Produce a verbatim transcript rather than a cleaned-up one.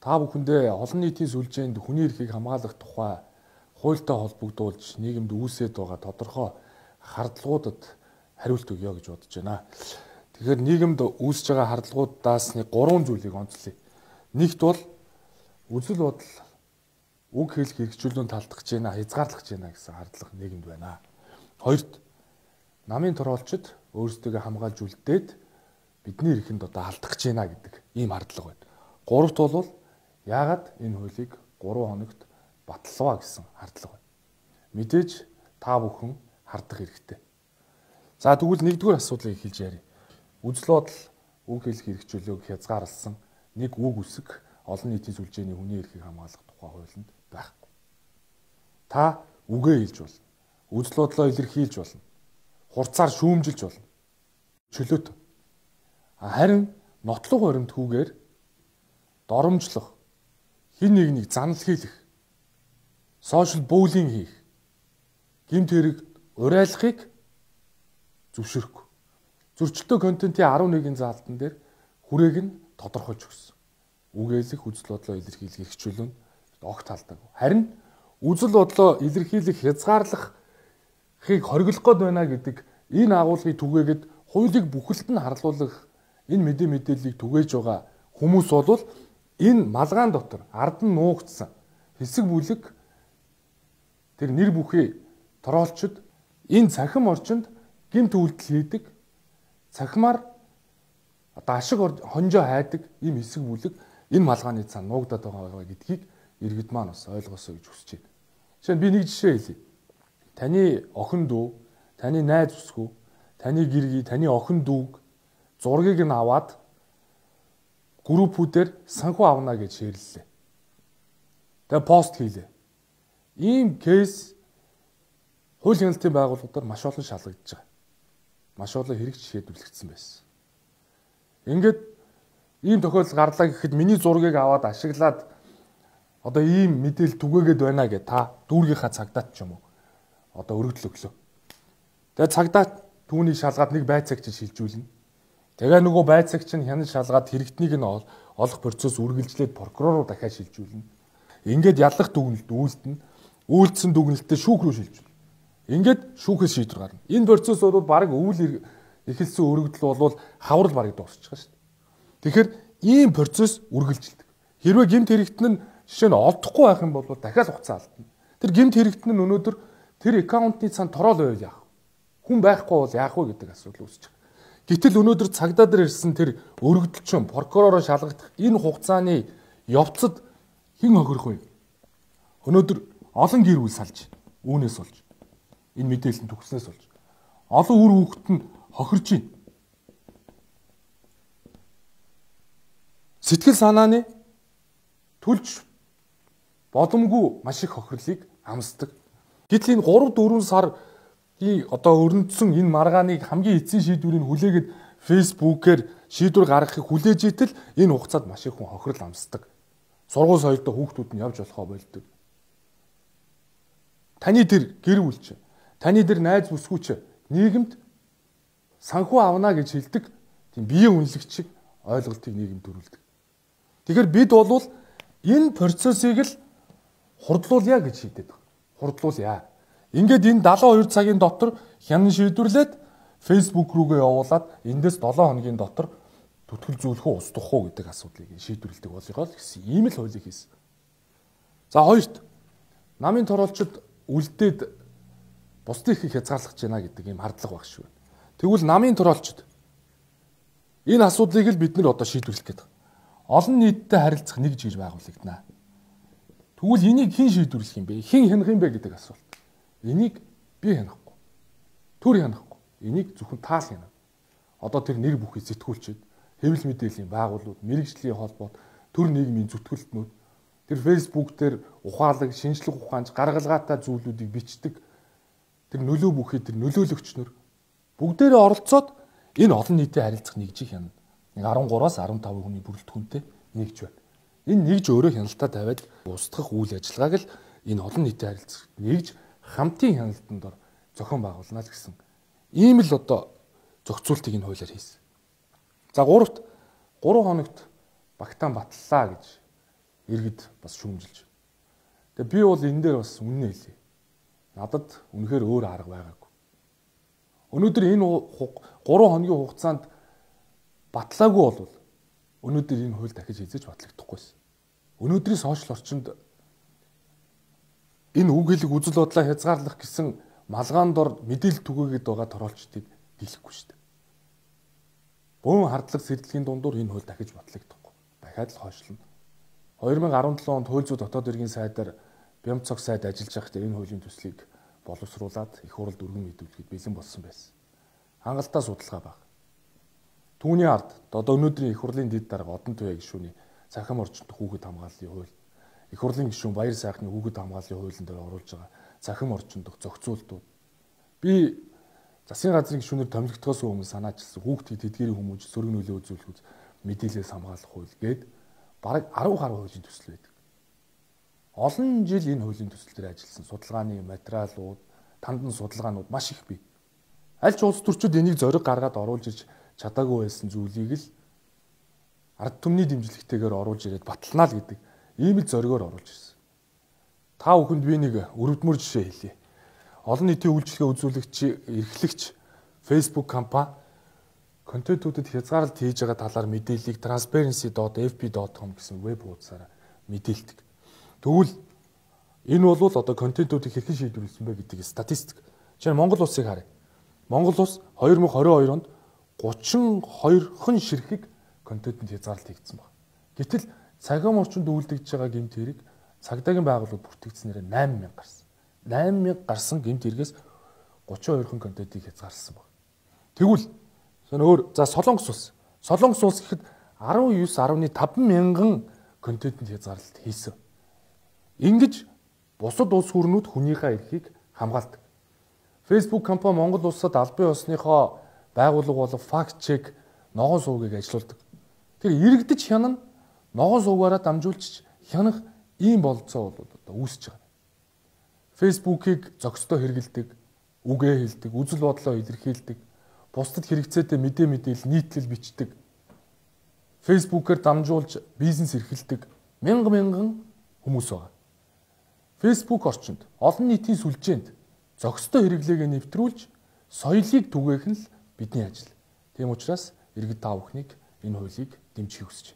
та бүхэндээ олон нийтийн сүлжээнд хүний эрхийг хамгаалах тухай хуультай холбогдуулж нийгэмд үүсээд байгаа тодорхой хардлагуудад хариулт өгье гэж бодож байна. Тэгэхээр нийгэмд үүсэж байгаа хардлагуудаас нэг гурван зүйлийг онцлоё. Нэгт бол үзэл бодол үг хэлэх хэрэгжүүлэн талдах гэж байна, хязгаарлах гэж байна гэсэн хардлага нийгэмд байна. Хоёрт намын тороолчид өөрсдөө хамгаалж үлдээд бидний эрхэнд одоо алдах гэж байна гэдэг ийм хардлага байна. Гуравт бол яагаад энэ хуулийг гурван хоногт батлаваа гэсэн хардлага байна. Мэдээж та бүхэн хардах хэрэгтэй. За тэгвэл нэгдүгээр асуудлыг эхэлж ярив. Үзэл бодол үг хэлэх хэрэгжүүлээг хязгаарласан нэг үг үсэг олон нийтийн сүлжээний хүний эрхийг хамгаалах тухай хуулинд байхгүй. Та үгээ хэлж болно. Үзэл бодлоо илэрхийлж болно. Хурцаар шүүмжилж болно. Чөлөөт. Харин нотлог баримтгүйгээр доромжлох, хэн нэгнийг занал хийх, сошиал буллинг хийх, гэмт хэрэг урайлахыг зөвшөөрөхгүй. Зөрчилтэй контентын арван нэгэн заалтан дээр хүрээг нь тодорхойлж өгсөн. Үгээлэх, үзэл бодлоо илэрхийлэх хэрэгжүүлэн огт талдаг. Харин үзэл бодлоо илэрхийлэх, хязгаарлахыг хориглох гээд байна гэдэг энэ агуулгыг түгээгээд хуулийг бүхэлд нь харлуулах энэ мэдээ мэдээллийг түгээж байгаа хүмүүс бол энэ малгаан дотор ард нь нуугдсан хэсэг бүлэг тэр нэр бүхий тороолчид энэ цахим орчинд гэмт үйлдэл хийдэг, цахимаар одоо ашиг хонжоо хайдаг ийм хэсэг бүлэг энэ малгааны цаана нуугдаад байгаа гэдгийг иргэд маань бас ойлгосоо гэж хүсэж байна. Жишээ нь би нэг жишээ хэлье. Таны охин дүү, таны найз бүсгүй, таны гэргий, таны охин дүүг зургийг нь аваад группүүдээр санхүү авна гэж шеэрлээ. Тэгээ пост хийлээ. Ийм кейс хууль хяналтын байгууллагуудаар маш олон шалгагдж байгаа. Маш олон хэрэгж шийдвэрлэгдсэн байсан. Ингээд ийм тохиолдол гарлаа гэхэд миний зургийг аваад ашиглаад одоо ийм мэдээлэл түгээгээд байна гэж та дүүргийнхаа цагдаад ч юм уу одоо өргөдөл өглөө. Тэгээ цагдаа түүнийг шалгаад нэг байцаагч шилжүүлнэ. Тэгээ нөгөө байцаагч нь хянаж шалгаад хэрэгтнийг нь олох процесс үргэлжлээд прокурор руу дахиад шилжүүлнэ. Ингээд яллах дүгнэлт үйлдэнэ. Үйлдсэн дүгнэлтээ шүүх рүү шилжүүлнэ. Ингээд шүүхээс шийдвэр гарна. Энэ процесс бол баг өвөл эхэлсэн өргөдөл бол хаврал бараг дуусчих шүү дээ. Тэгэхээр ийм процесс үргэлжилдэг. Хэрвээ гэмт хэрэгтэн нь жишээ нь олдохгүй байх юм бол дахиад хугацаа алдна. Тэр гэмт хэрэгтэн нь өнөөдөр тэр аккаунтны цаана тороол байвал яах вэ? Хүн байхгүй бол яах вэ гэдэг асуудал үүсэж байгаа. Гэтэл өнөөдөр цагдаа дээр ирсэн тэр өргөдөлчин прокуророо шалгах энэ хугацааны явцад хэн хохирох вэ? Өнөөдөр олон гэр бүл салж, үүнээс болж энэ мэдээлэл нь төгснөөс болж олон үр хүүхэд нь хохирж байна. Сэтгэл санааны төлж боломгүй маш их хохирлыг амсдаг. Гэтэл энэ гурав дөрвөн сар и одоо өрнөдсөн энэ маргааныг хамгийн эцсийн шийдвэрийг хүлээгээд фейсбүүкээр шийдвэр гаргахыг хүлээж итэл энэ хугацаанд маш их хүн хохирол амсдаг. Сургууль соёлтой хүүхдүүд нь явж болохоо болдог. Таны тэр гэр бүлч, таны тэр найз бүсгүйч нийгэмд санхүү авна гэж хэлдэг тийм биеийн үнэлэгч шиг ойлголтыг нийгэмд төрүүлдэг. Тэгэхээр бид бол энэ процессыг л хурдлуулъя гэж шийдээд байна. Хурдлуулъя. Ингээд энэ далайн хоёр цагийн дотор хянан шийдвэрлээд фейсбુક рүүгээ явуулаад эндээс долоон хоногийн дотор түтгэл зүүлэх үү устгах уу гэдэг асуудлыг шийдвэрлэдэг болгоо гэсэн ийм л хуулийг хийсэн. За хоёрт намын тороолчид үлдээд бусдын эрхийг хязгаарлах гэж байна гэдэг ийм хардлага баг шүү. Тэгвэл намын тороолчид энэ асуудлыг л бид нар одоо шийдвэрлэх гэдэг. Олон нийттэй харилцах нэг жир байгуулагдана. Тэгвэл энийг хэн шийдвэрлэх юм бэ? Хэн хянах юм бэ гэдэг асуулт. Энийг би хянахгүй. Төр хянахгүй. Энийг зөвхөн таа л хянана. Одоо тэр нэр бүхий сэтгүүлчид, хэвлэл мэдээллийн байгууллагууд, мэрэгжлийн холбоот, төр нийгмийн зүтгэлтнүүд тэр фейсбુક дээр ухаалаг, шинжлэх ухаанч, гаргалгаатай зүйлүүдийг бичдэг. Тэр нөлөө бүхий тэр нөлөөлөгчнөр бүгдээрээ оролцоод энэ олон нийтийн харилцах нэгжийг хянана. Нэг арван гураас арван таван хүний бүрэлдэхүүнтэй нэгж байна. Энэ нэгж өөрөө хяналтаа тавиад устгах үйл ажиллагааг л энэ олон нийтийн харилцах нэгж хамтын хяналтанд ор зохион байгуулна л гэсэн ийм л одоо зохицуултыг энэ хуулиар хийсэн. За гуравт гурван хоногт багтаан батллаа гэж иргэд бас шүүмжилж байна. Тэгээ би бол энэ дээр бас үнэн хэлье. Надад үнэхээр өөр арга байгаагүй. Өнөөдөр энэ гурван хоногийн хугацаанд батлаагүй болвол өнөөдөр энэ хууль дахиж хийж батлагдахгүйсэн. Өнөөдрийн сошиал орчинд энэ үг хэлэг үзэл бодлоо хязгаарлах гэсэн малгаан дор мэдээлэл түгээгээд байгаа торолчдыг дийлэхгүй шүү дээ. Бөөн хардлага сэрдлэгийн дундуур энэ хууль дахиж батлагдахгүй. Дахиад л хойшлно. хоёр мянга арван долоо онд хууль зүйн дотоод иргэн сайдаар Бямцог сайд ажиллаж байхдаа энэ хуулийн төслийг боловсруулад их хурлд өргөн мэдүүлэхэд бэлэн болсон байсан. Хангалттай судалгаа баг. Түүний ард одоо өнөөдрийн их хурлын дэд дарга Одон Туяа гишүүний цахим орчинд хүүхэд хамгааллын хууль, их хурлын гишүүн Баяр сайхны хүүхэд хамгааллын хуулийн дээр оруулж байгаа цахим орчинд зохицуултууд. Би засгийн газрын гишүүнээр томилогдохоос өмнө санаачилсан хүүхдүүд тэдгэрийн хүмүүж сөрөг нөлөө үзүүлэхүүц мэдээлэлээс хамгаалах хууль гээд бараг арав гаруй хуулийн төсөл байдаг. Олон жил энэ хуулийн төсөл дээр ажилласан судалгааны материалууд, тандан судалгаанууд маш их бий. Аль ч улс төрчид энийг зориг гаргаад оруулж ирж чадаагүй байсан зүйлийг л ард түмний дэмжлэгтэйгээр оруулж ирээд баталнаа л гэдэг ийм л зоригоор оруулж ирсэн. Та бүхэнд би нэг өрөвдмөр жишээ хэлье. Олон нийтийн үйлчлэгээ үзүүлэгч, эрхлэгч Facebook компани контентуудад хязгаарлалт хийж байгаа талаар мэдээллийг transparency dot f b dot com гэсэн веб хуудасаараа мэдээлдэг. Тэгвэл энэ бол одоо контентуудыг хэрхэн шийдвэрлэсэн бэ гэдэг статистик. Жишээ нь Монгол улсыг харъя. Монгол улс хоёр мянга хорин хоёр онд гучин хоёрхан ширхэг контентэнд хязгаарлалт хийгдсэн байна. Гэтэл цагаан орчинд үйлдэгдэж байгаа гэмт хэрэг цагдаагийн байгууллагууд бүртгэгдснээр найман мянга гарсан. найман мянга гарсан гэмт хэрэгээс гучин хоёрхан контентыг хязгаарласан байна. Тэгвэл өөр за Солонгос улс. Солонгос улс гэхэд арван девять дашь таван мянган контентэнд хязгаарлалт хийсэн. Ингэж бусад улс хүрнүүд хүнийхээ эрхийг хамгаалдаг. Facebook компани Монгол улсад албан ёсныхоо байгууллага болон факт чек ногоон сувгийг ажилуулдаг. Тэр иргэдэж хянана ногоон сувгаараа дамжуулж хянах ийм болцоо бол одоо үүсэж байгаа. Facebook-ыг зохистой хэрэгэлдэг, үгээ хэлдэг, үзэл бодлоо илэрхийлдэг, бусдад хэрэгцээтэй мэдээ мэдээлэл нийтлэл бичдэг. Facebook-ээр дамжуулж бизнес эрхэлдэг мянган мянган хүмүүс байгаа. Facebook орчинд олон нийтийн сүлжээнд зохистой хэрэглээгээ нэвтрүүлж соёлыг түгээх нь л бидний ажил. Тийм учраас иргэд та бүхнийг энэ хуулийг дэмжихийг хүсэж